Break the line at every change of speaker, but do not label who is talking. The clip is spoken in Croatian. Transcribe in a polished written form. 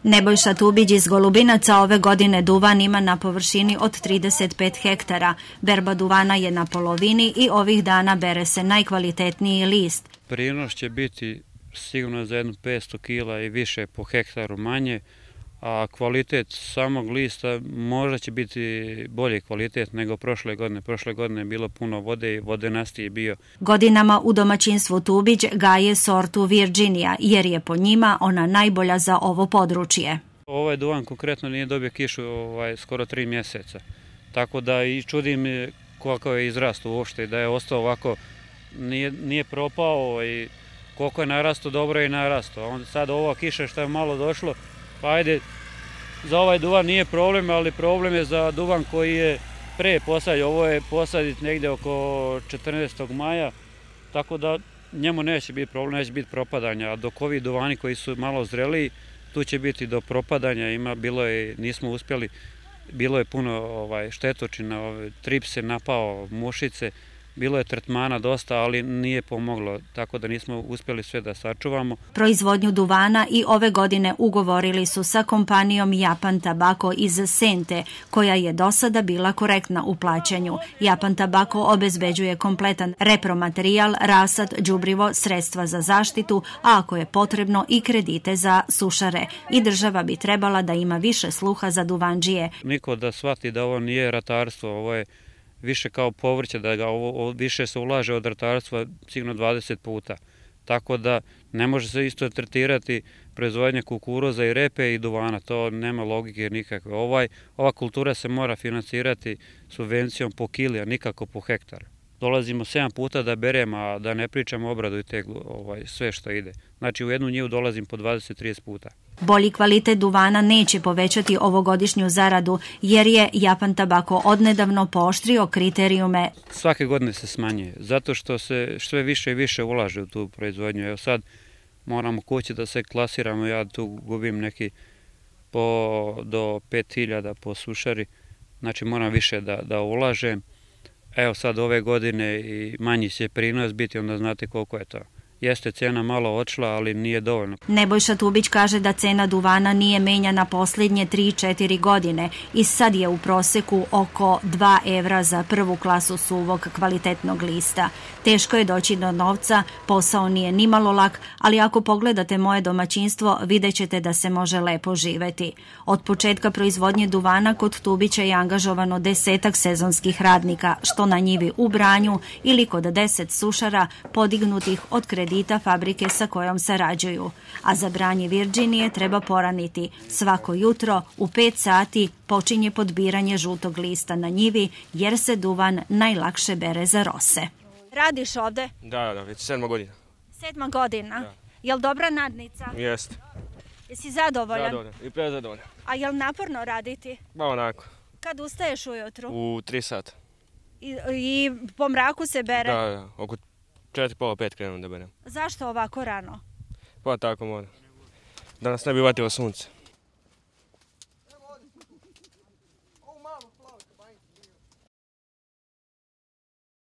Nebojša Tubić iz Golubinaca ove godine duvan ima na površini od 35 hektara. Berba duvana je na polovini i ovih dana bere se najkvalitetniji list.
Prinos će biti sigurno za jedno 500 kila i više po hektaru manje, a kvalitet samog lista možda će biti bolji kvalitet nego prošle godine. Prošle godine je bilo puno vode i vodenasti je bio.
Godinama u domaćinstvu Tubić gaje sortu Virginia jer je po njima ona najbolja za ovo područje.
Ovaj duvan konkretno nije dobio kišu skoro 3 mjeseca. Tako da i čudim koliko je izrastao uopšte, da je ostao ovako, nije propao i koliko je narastao, dobro je i narastao. Sad ova kiša što je malo došlo, pa ajde, za ovaj duvan nije problem, ali problem je za duvan koji je pre posađen. Ovo je posaditi negdje oko 14. maja, tako da njemu neće biti problem, neće biti propadanja. A dok ovi duvani koji su malo zreliji, tu će biti do propadanja. Nismo uspjeli, bilo je puno štetočina, trips je napao, mušice, bilo je tretmana dosta, ali nije pomoglo, tako da nismo uspjeli sve da sačuvamo.
Proizvodnju duvana i ove godine ugovorili su sa kompanijom Japan Tabako iz Sente, koja je do sada bila korektna u plaćanju. Japan Tabako obezbeđuje kompletan repromaterijal, rasad, đubrivo, sredstva za zaštitu, a ako je potrebno i kredite za sušare. I država bi trebala da ima više sluha za duvandžije.
Niko da shvati da ovo nije ratarstvo, ovo je više kao povrće, da ga više se ulaže od ratarstva sigurno 20 puta. Tako da ne može se isto tretirati proizvodnja kukuruza i repe i duvana, to nema logike nikakve. Ova kultura se mora financirati subvencijom po kili, a nikako po hektar. Dolazimo 7 puta da beremo, a da ne pričamo o obradu i teglu, sve što ide. Znači u jednu njivu dolazim po 20-30 puta.
Bolji kvalitet duvana neće povećati ovogodišnju zaradu jer je Japan Tabako odnedavno pooštrio kriterijume.
Svake godine se smanjuje, zato što se sve više i više ulaže u tu proizvodnju. Evo sad moramo kući da se klasiramo, ja tu gubim neki do 5000 po sušari, znači moram više da ulažem. Evo sad ove godine i manji će prinos biti, onda znate koliko je to. Jeste cena malo odšla, ali nije dovoljno.
Nebojša Tubić kaže da cena duvana nije menjana posljednje 3-4 godine i sad je u proseku oko 2 evra za prvu klasu suvog kvalitetnog lista. Teško je doći do novca, posao nije nimalo lak, ali ako pogledate moje domaćinstvo, vidjet ćete da se može lepo živeti. Od početka proizvodnje duvana kod Tubića je angažovano 10-ak sezonskih radnika, što na njivi u branju ili kod 10 sušara podignutih od kredita fabrike sa kojom sarađuju. A za branje Virginije treba poraniti. Svako jutro u 5 sati počinje podbiranje žutog lista na njivi jer se duvan najlakše bere za rose. Radiš ovde?
Da, već 7 godina.
7 godina? Da. Jel dobra nadnica?
Jeste.
Jesi zadovoljan?
Zadovoljan i prezadovoljan.
A jel naporno raditi?
Ba onako.
Kad ustaješ ujutru?
U 3 sata.
I po mraku se bere?
Da, oko 4:30-5 krenem da berem.
Zašto ovako rano?
Pa tako mora. Da nas ne bi vatilo sunce.